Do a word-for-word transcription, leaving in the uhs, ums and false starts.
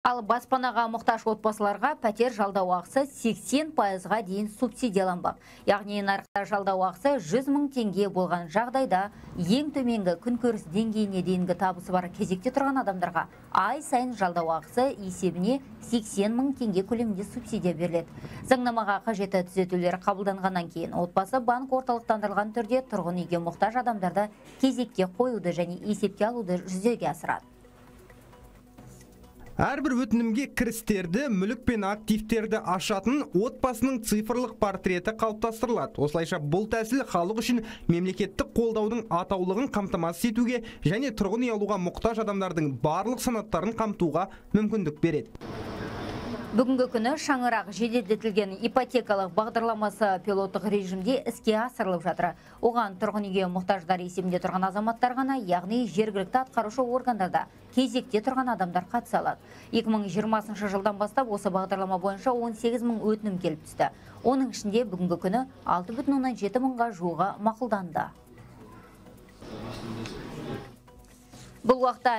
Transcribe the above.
Ал баспанаға мұқтаж отбасыларға пәтер жалдау ақысы сексен пайызға дейін субсидияланбақ. Яғни нарықта жалдау ақысы жүз мың теңге болған жағдайда ең төменгі күнкөріс деңгейіне дейінгі табысы бар кезекте тұрған адамдарға ай сайын жалдау ақысы есебіне сексен мың теңге көлемінде субсидия беріледі. Заңнамаға қажетті түзетулер қабылданғаннан кейін отбасы банк орталықтандырылған түрде тұрғын үйге мұқтаж адамдарды кезекке қоюды және есепке алуды жүзеге асырады. Әрбір өтінімге кірістерді, мүлік пен активтерді ашатын отбасының цифрлық портреті қалыптастырылады. Осылайша бұл тәсіл халық үшін мемлекеттік қолдаудың атаулығын қамтамасыз етуге және тұрғын үй алуға мұқтаж адамдардың барлық санаттарын қамтуға мүмкіндік береді. Бүгінгі күні шаңырақ жеделдетілген ипотекалық бағдарламасы пилоттық режимде іске асырылып жатыр. Оған тұрғын үйге мұқтаждар есебінде тұрған азаматтар ғана, яғни жергілікті атқарушы органдарда кезекте тұрған адамдар қатыса алады. екі мың жиырмасыншы жылдан бастап осы бағдарлама бойынша он сегіз мың өтінім келіп түсті. Оның ішінде бүгінгі күні алты бүтін оннан жеті мыңға жуығы мақұлданды. Бұл уақытта